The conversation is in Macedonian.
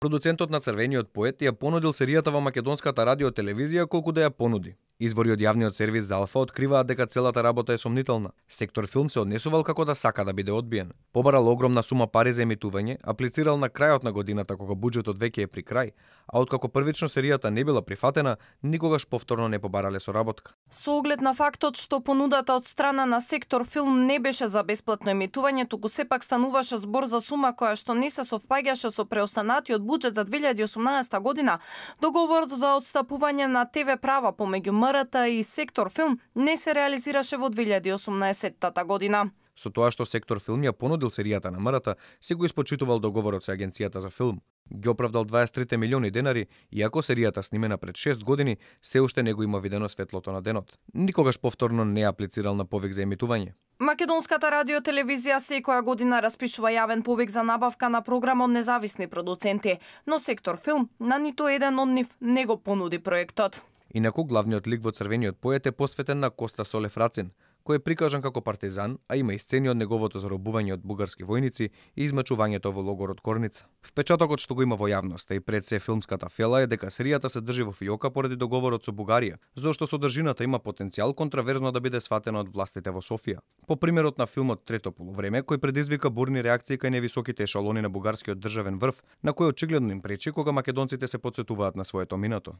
Продуцентот на Црвениот поет ја понудил серијата во македонската радио-телевизија колку да ја понуди. Извори од јавниот сервис за Алфа откриваат дека целата работа е сомнителна. Сектор филм се однесувал како да сака да биде одбиен. Побарал огромна сума пари за емитување, аплицирал на крајот на годината кога буџетот веќе е при крај, а откако првично серијата не била прифатена, никогаш повторно не побарале соработка. Со оглед на фактот што понудата од страна на Сектор филм не беше за бесплатно емитување, туку сепак стануваше збор за сума која што не се совпаѓаше со преостанатиот буџет за 2018 година, договорот за отстапување на ТВ права помеѓу МРТ и Сектор филм не се реализираше во 2018 година. Со тоа што Сектор филм ја понудил серијата на МРТ, се го испочитувал договорот со Агенцијата за филм. Ги оправдал 23 милиони денари, иако серијата снимена пред 6 години се уште не го има видено светлото на денот. Никогаш повторно не аплицирал на повик за емитување. Македонската радио-телевизија секоја година распишува јавен повик за набавка на програм од независни продуценти, но Сектор филм на ниту еден од нив не го понуди проектот. Инаку главниот лик во Црвениот поет е посветен на Коста Солев Рацин, кој е прикажан како партизан, а има и сцени од неговото заробување од бугарски војници и измачувањето во логорот Корница. Впечатокот што го има во јавноста и пред се филмската фела е дека серијата се држи во фиока поради договорот со Бугарија, зошто содржината има потенцијал контраверзно да биде сватена од властите во Софија. По примерот на филмот Трето полувреме, кој предизвика бурни реакции кај невисоките ешалони на бугарскиот државен врв, на кој очигледно им пречи кога македонците се потсетуваат на своето минато.